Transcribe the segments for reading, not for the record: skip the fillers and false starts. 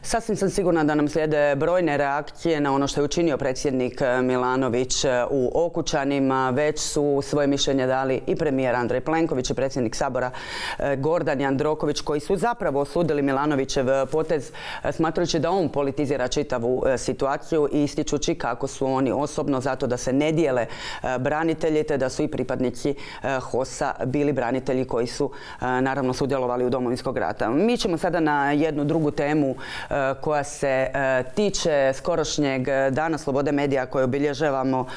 Sasvim sam sigurna da nam slijede brojne reakcije na ono što je učinio predsjednik Milanović u Okučanima. Već su svoje mišljenje dali i premijer Andrej Plenković i predsjednik Sabora Gordan Jandroković, koji su zapravo osudili Milanovićev potez smatrajući da on politizira čitavu situaciju i ističući kako su oni osobno zato da se ne dijele branitelji, te da su i pripadnici HOS-a bili branitelji koji su naravno sudjelovali u Domovinskog rata. Mi ćemo sada na jednu drugu temu koja se tiče skorošnjeg Dana slobode medija koje obilježavamo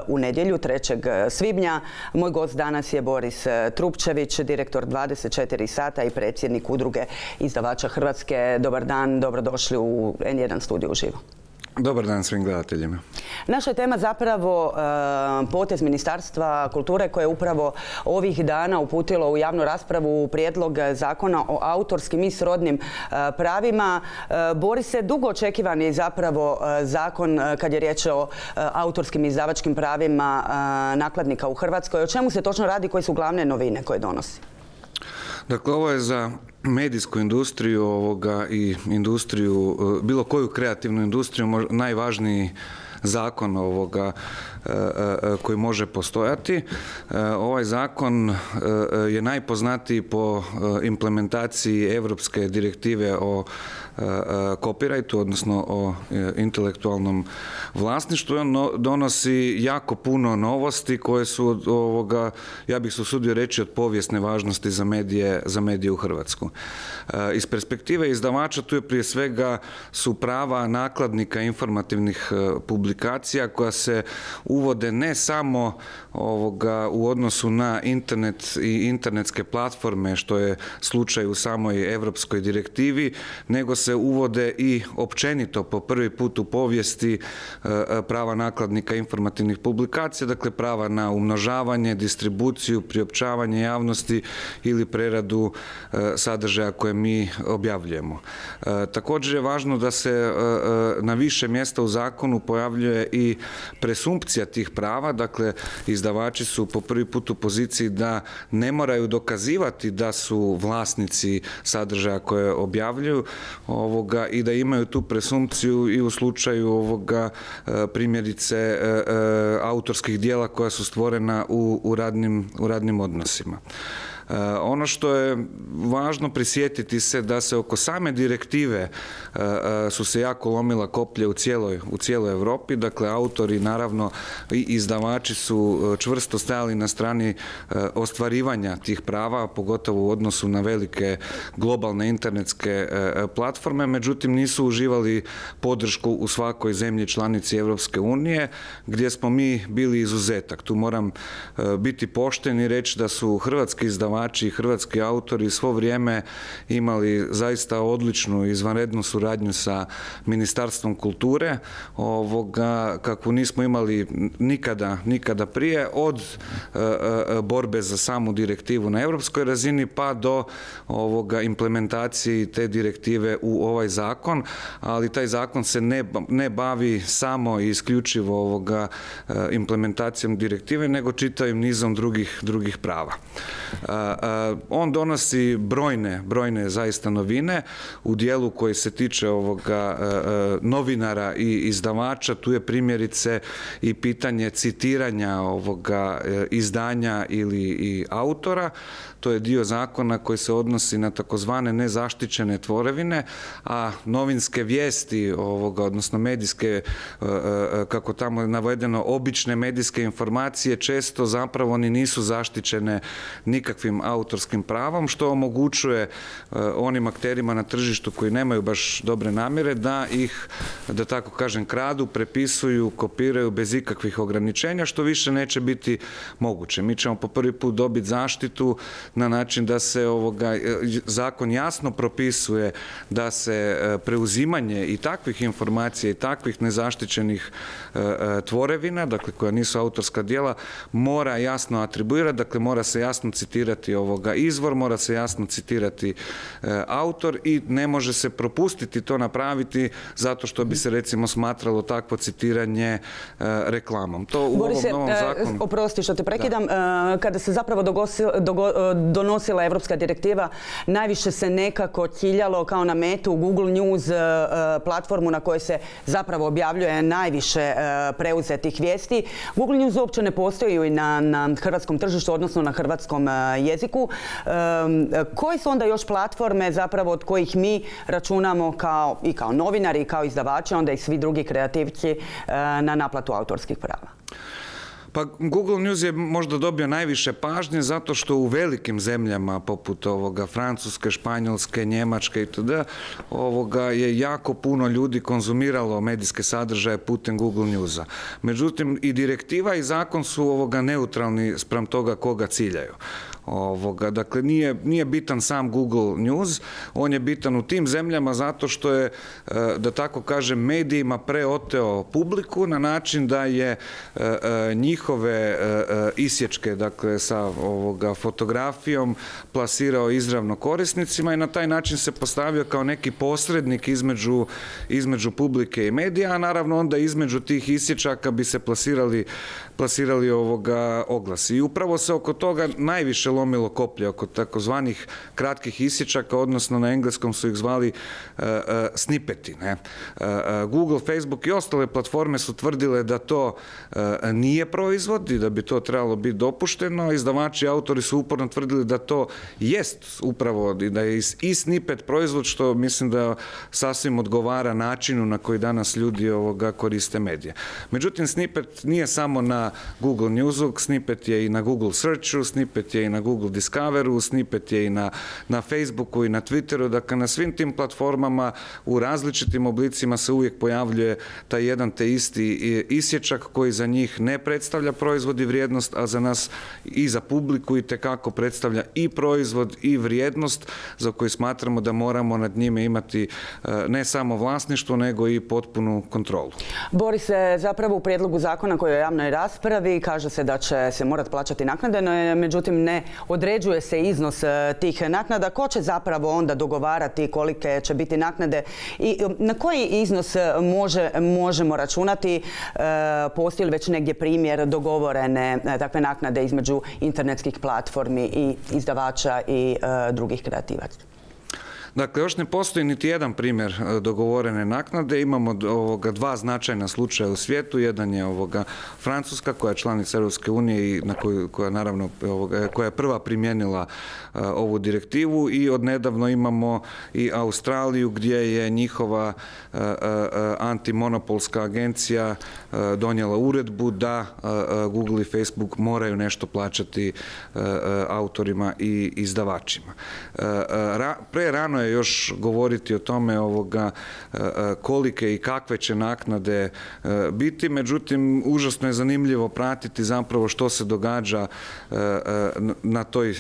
u nedjelju 3. svibnja. Moj gost danas je Boris Trupčević, direktor 24 sata i predsjednik Udruge izdavača Hrvatske. Dobar dan, dobrodošli u N1 studiju uživo. Dobar dan svim gledateljima. Naša je tema zapravo potez Ministarstva kulture koje je upravo ovih dana uputilo u javnu raspravu prijedlog zakona o autorskim i srodnim pravima. Borise, dugo očekivan je zapravo zakon kad je riječ o autorskim i izdavačkim pravima nakladnika u Hrvatskoj. O čemu se točno radi, koje su glavne novine koje donosi? Dakle, ovo je za medijsku industriju i industriju, bilo koju kreativnu industriju, najvažniji zakon koji može postojati. Ovaj zakon je najpoznatiji po implementaciji Europske direktive o copyrightu, odnosno o intelektualnom vlasništvu. On donosi jako puno novosti koje su, ja bih se usudio reći, od povijesne važnosti za medije u Hrvatsku. Iz perspektive izdavača tu je prije svega su prava nakladnika informativnih publikacija koja se uvode ne samo u odnosu na internet i internetske platforme, što je slučaj u samoj Europskoj direktivi, nego se uvode i općenito po prvi put u povijesti prava nakladnika informativnih publikacija, dakle prava na umnožavanje, distribuciju, priopćavanje javnosti ili preradu sadržaja koje mi objavljujemo. Također je važno da se na više mjesta u zakonu pojavljuje i presumpcija tih prava, dakle izdavači su po prvi put u poziciji da ne moraju dokazivati da su vlasnici sadržaja koje objavljuju i da imaju tu presumpciju i u slučaju primjerice autorskih djela koja su stvorena u radnim odnosima. Ono što je važno prisjetiti se da se oko same direktive su se jako lomila koplje u cijeloj Europi, dakle autori naravno i izdavači su čvrsto stajali na strani ostvarivanja tih prava, pogotovo u odnosu na velike globalne internetske platforme, međutim nisu uživali podršku u svakoj zemlji članici Europske unije, gdje smo mi bili izuzetak. Tu moram biti pošten i reći da su hrvatski izdavači i hrvatski autori svo vrijeme imali zaista odličnu izvanrednu suradnju sa Ministarstvom kulture, kakvu nismo imali nikada prije, od borbe za samu direktivu na europskoj razini pa do implementacije te direktive u ovaj zakon, ali taj zakon se ne bavi samo i isključivo implementacijom direktive, nego čitavim nizom drugih prava. On donosi brojne zaista novine u dijelu koji se tiče novinara i izdavača. Tu je primjerice i pitanje citiranja izdanja ili autora. To je dio zakona koji se odnosi na takozvane nezaštićene tvorevine, a novinske vijesti, odnosno medijske, kako tamo je navedeno, obične medijske informacije često zapravo ni nisu zaštićene nikakvim autorskim pravom, što omogućuje onim akterima na tržištu koji nemaju baš dobre namjere da ih, da tako kažem, kradu, prepisuju, kopiraju bez ikakvih ograničenja, što više neće biti moguće. Mi ćemo po prvi put dobiti zaštitu na način da se zakon jasno propisuje da se preuzimanje i takvih informacija i takvih nezaštićenih tvorevina, dakle koja nisu autorska djela, mora jasno atribuirati, dakle mora se jasno citirati citirati izvor, mora se jasno citirati autor i ne može se propustiti to napraviti zato što bi se recimo smatralo takvo citiranje reklamom. To u ovom novom zakonu... Oprosti što te prekidam. Kada se zapravo donosila evropska direktiva, najviše se nekako ciljalo kao na metu Google News, platformu na kojoj se zapravo objavljuje najviše preuzetih vijesti. Google News uopće ne postoji na hrvatskom tržištu, odnosno na hrvatskom jeziku. Koje su onda još platforme zapravo od kojih mi računamo i kao novinari i kao izdavači, onda i svi drugi kreativci na naplatu autorskih prava? Pa Google News je možda dobio najviše pažnje zato što u velikim zemljama poput Francuske, Španjolske, Njemačke itd. Je jako puno ljudi konzumiralo medijske sadržaje putem Google Newsa. Međutim, i direktiva i zakon su neutralni spram toga koga ciljaju. Dakle, nije bitan sam Google News, on je bitan u tim zemljama zato što je, da tako kažem, medijima preoteo publiku na način da je njihove isječke, dakle, sa fotografijom plasirao izravno korisnicima i na taj način se postavio kao neki posrednik između publike i medija, a naravno onda između tih isječaka bi se plasirali oglasi. I upravo se oko toga najviše lomilo koplje, oko takozvanih kratkih isječaka, odnosno na engleskom su ih zvali snippeti. Google, Facebook i ostale platforme su tvrdile da to nije proizvod i da bi to trebalo biti dopušteno. Izdavači i autori su uporno tvrdili da to jest upravo, da je i snippet proizvod, što mislim da sasvim odgovara načinu na koji danas ljudi koriste medije. Međutim, snippet nije samo na Google Newsu, snippet je i na Google Searchu, snippet je i na Google Discoveru, snippet je i na Facebooku i na Twitteru. Dakle, na svim tim platformama u različitim oblicima se uvijek pojavljuje taj jedan te isti isječak koji za njih ne predstavlja proizvod i vrijednost, a za nas i za publiku itekako predstavlja i proizvod i vrijednost za koju smatramo da moramo nad njime imati ne samo vlasništvo, nego i potpunu kontrolu. Borise, zapravo u prijedlogu zakona koji je u javnoj raspravi kaže se da će se morati plaćati naknade, no međutim ne određuje se iznos tih naknada. Ko će zapravo onda dogovarati kolike će biti naknade i na koji iznos možemo računati? Postoji li već negdje primjer dogovorene takve naknade između internetskih platformi i izdavača i drugih kreativaca? Dakle, još ne postoji niti jedan primjer dogovorene naknade. Imamo dva značajna slučaja u svijetu. Jedan je Francuska, koja je članica Europske unije i koja je prva primijenila ovu direktivu, i odnedavno imamo i Australiju gdje je njihova antimonopolska agencija donijela uredbu da Google i Facebook moraju nešto plaćati autorima i izdavačima. Prerano je još govoriti o tome kolike i kakve će naknade biti, međutim užasno je zanimljivo pratiti zapravo što se događa na toj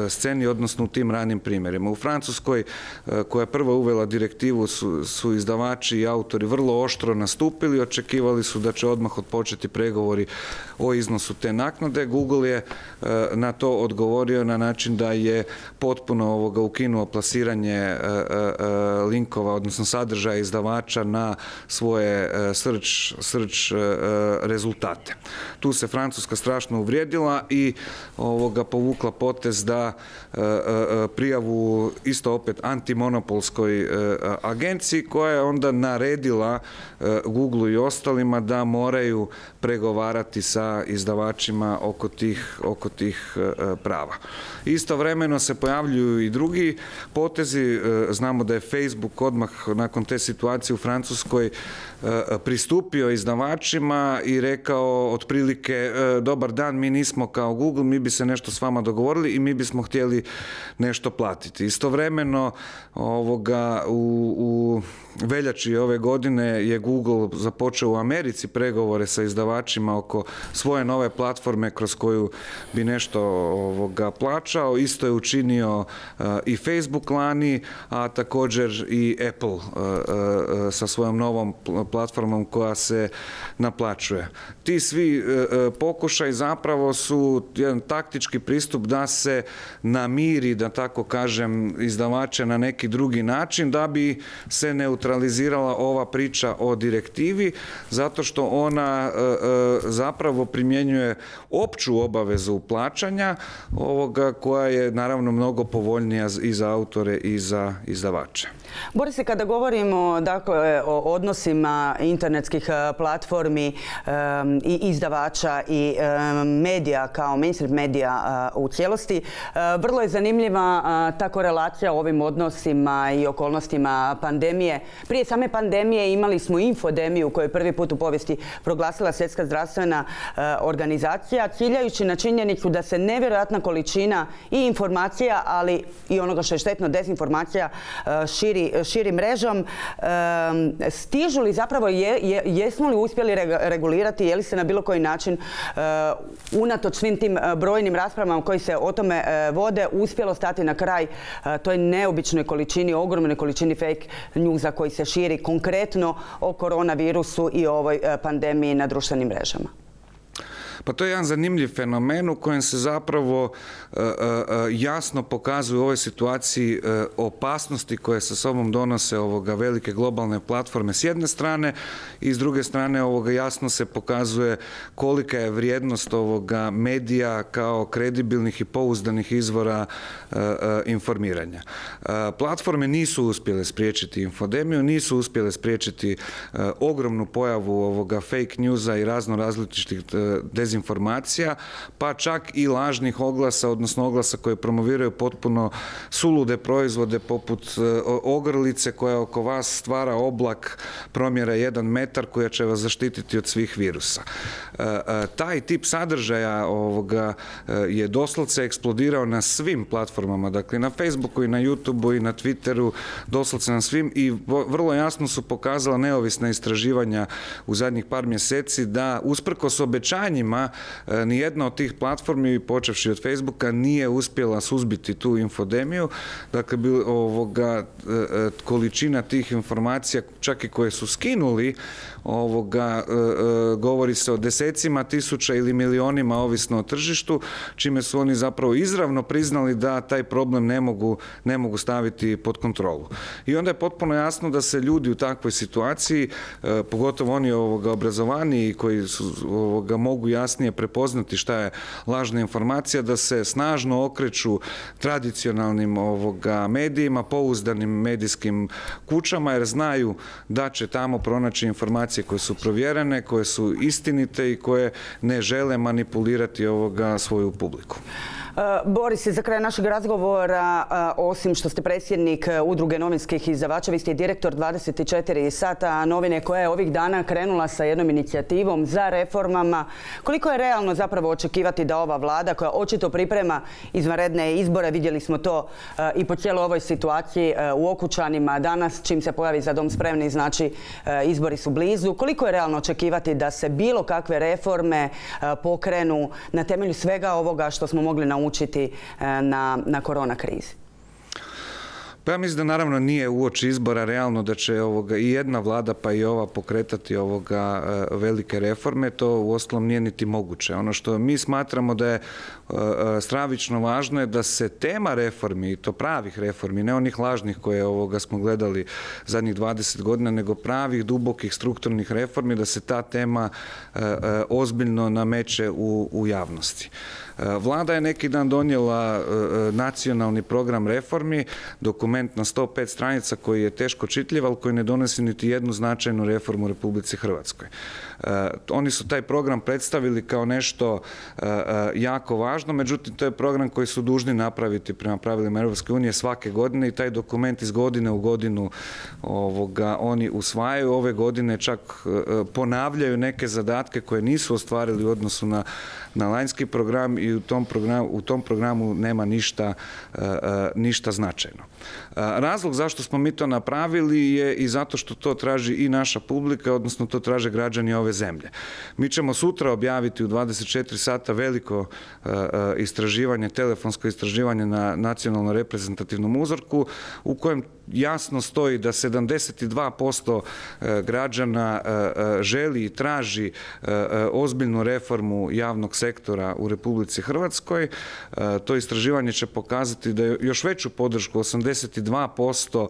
sceni, odnosno u tim ranim primjerima. U Francuskoj, koja je prva uvela direktivu, su izdavači i autori vrlo oštro nastupili, očekivali su da će odmah odpočeti pregovori o iznosu te naknade. Google je na to odgovorio na način da je potpuno ukinuo plasiranje linkova, odnosno sadržaja izdavača na svoje search rezultate. Tu se Francuska strašno uvrijedila i povukla potez da prijavu isto opet antimonopolskoj agenciji, koja je onda naredila Google i ostalima da moraju pregovarati sa izdavačima oko tih prava. Istovremeno se pojavljuju i drugi potezi. Znamo da je Facebook odmah nakon te situacije u Francuskoj pristupio izdavačima i rekao otprilike: dobar dan, mi nismo kao Google, mi bi se nešto s vama dogovorili i mi bismo htjeli nešto platiti. Istovremeno u veljači ove godine je Google započeo u Americi pregovore sa izdavačima oko svoje nove platforme kroz koju bi nešto plaćao. Isto je učinio i Facebook lani, a također također i Apple sa svojom novom platformom koja se naplaćuje. Ti svi pokušaj zapravo su jedan taktički pristup da se namiri, da tako kažem, izdavače na neki drugi način, da bi se neutralizirala ova priča o direktivi, zato što ona zapravo primjenjuje opću obavezu plaćanja koja je naravno mnogo povoljnija i za autore i za izdavače. Borise, kada govorimo dakle, o odnosima internetskih platformi i izdavača i medija kao mainstream medija u cijelosti, vrlo je zanimljiva ta korelacija o ovim odnosima i okolnostima pandemije. Prije same pandemije imali smo infodemiju koju je prvi put u povijesti proglasila Svjetska zdravstvena organizacija, ciljajući na činjenicu da se nevjerojatna količina i informacija, ali i onoga što je štetno, dezinformacija, širi mrežom. Stižu li zapravo, jesmo li uspjeli regulirati, je li se na bilo koji način unatoč svim tim brojnim raspravama koji se o tome vode uspjelo stati na kraj toj neobičnoj količini, ogromnoj količini fake newsa koji se širi konkretno o koronavirusu i ovoj pandemiji na društvenim mrežama? Pa to je jedan zanimljiv fenomen u kojem se zapravo jasno pokazuju u ovoj situaciji opasnosti koje sa sobom donose velike globalne platforme s jedne strane i s druge strane jasno se pokazuje kolika je vrijednost medija kao kredibilnih i pouzdanih izvora informiranja. Platforme nisu uspjele spriječiti infodemiju, nisu uspjele spriječiti ogromnu pojavu fake newsa i različitih dezinformacija, pa čak i lažnih oglasa, odnosno oglasa koje promoviraju potpuno sulude proizvode poput ogrlice koja oko vas stvara oblak promjera 1 metar koja će vas zaštititi od svih virusa. Taj tip sadržaja je doslovce eksplodirao na svim platformama, dakle na Facebooku i na YouTubeu i na Twitteru, doslovce na svim, i vrlo jasno su pokazala neovisna istraživanja u zadnjih par mjeseci da usprkos obećanjima nijedna od tih platformi, počevši od Facebooka, nije uspjela suzbiti tu infodemiju. Dakle, količina tih informacija, čak i koje su skinuli, govori se o desecima tisuća ili milionima, ovisno o tržištu, čime su oni zapravo izravno priznali da taj problem ne mogu staviti pod kontrolu. I onda je potpuno jasno da se ljudi u takvoj situaciji, pogotovo oni obrazovaniji koji mogu jasnije prepoznati šta je lažna informacija, da se snažno okreću tradicionalnim medijima, pouzdanim medijskim kućama, jer znaju da će tamo pronaći informacije koje su provjerene, koje su istinite i koje ne žele manipulirati svoju publiku. Boris, za kraj našeg razgovora, osim što ste predsjednik Udruge novinskih izdavača, vi ste i direktor 24 sata novine koja je ovih dana krenula sa jednom inicijativom za reformama. Koliko je realno zapravo očekivati da ova vlada, koja očito priprema izvanredne izbore, vidjeli smo to i po cijeloj ovoj situaciji u Okučanima danas, čim se pojavi Za dom spremni, znači izbori su blizu, koliko je realno očekivati da se bilo kakve reforme pokrenu na temelju svega ovoga što smo mogli naučiti na korona krizi? Pa ja mislim da naravno nije uoči izbora realno da će i jedna vlada pa i ova pokretati velike reforme. To uostalom nije niti moguće. Ono što mi smatramo da je stravično važno je da se tema reformi, i to pravih reformi, ne onih lažnih koje smo gledali zadnjih 20 godina, nego pravih, dubokih, strukturnih reformi, da se ta tema ozbiljno nameće u javnosti. Vlada je neki dan donijela nacionalni program reformi, dokument na 105 stranica koji je teško čitljiv, ali koji ne donosi niti jednu značajnu reformu u Republici Hrvatskoj. Oni su taj program predstavili kao nešto jako važno, međutim to je program koji su dužni napraviti prema pravilima Europske unije svake godine i taj dokument iz godine u godinu oni usvajaju. Ove godine čak ponavljaju neke zadatke koje nisu ostvarili u odnosu na lanjski program i u tom programu nema ništa značajno. Razlog zašto smo mi to napravili je i zato što to traži i naša publika, odnosno to traže građani ove zemlje. Mi ćemo sutra objaviti u 24 sata veliko istraživanje, telefonsko istraživanje na nacionalno reprezentativnom uzorku u kojem jasno stoji da 72% građana želi i traži ozbiljnu reformu javnog sektora u Republici Hrvatskoj. To istraživanje će pokazati da je još veću podršku, 82%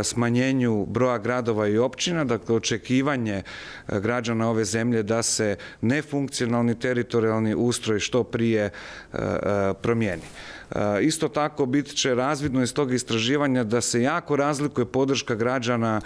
smanjenju broja gradova i općina, dakle očekivanje građana ove zemlje da se nefunkcionalni teritorijalni ustroj što prije promijeni. Isto tako bit će razvidno iz tog istraživanja da se jako razlikuje podrška građana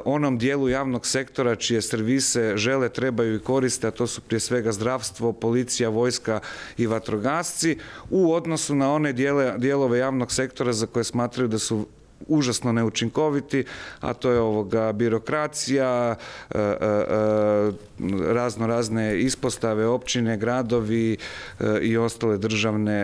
onom dijelu javnog sektora čije servise žele, trebaju i koriste, a to su prije svega zdravstvo, policija, vojska i vatrogasci, u odnosu na one dijelove javnog sektora za koje smatraju da su užasno neučinkoviti, a to je birokracija, razne ispostave, općine, gradovi i ostale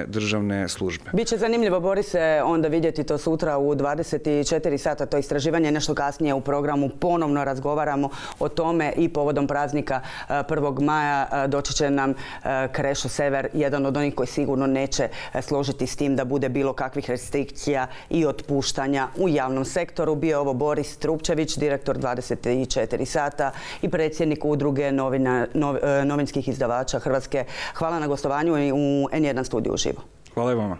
državne službe. Biće zanimljivo, Borise, onda vidjeti to sutra u 24 sata, to istraživanje, nešto kasnije u programu ponovno razgovaramo o tome i povodom praznika 1. maja doći će nam Krešo Sever, jedan od onih koji sigurno neće složiti s tim da bude bilo kakvih restrikcija i otpuštanja u javnom sektoru. Bio ovo Boris Trupčević, direktor 24 sata i predsjednik udruge novinskih izdavača Hrvatske. Hvala na gostovanju u N1 studiju uživo. Hvala i vama.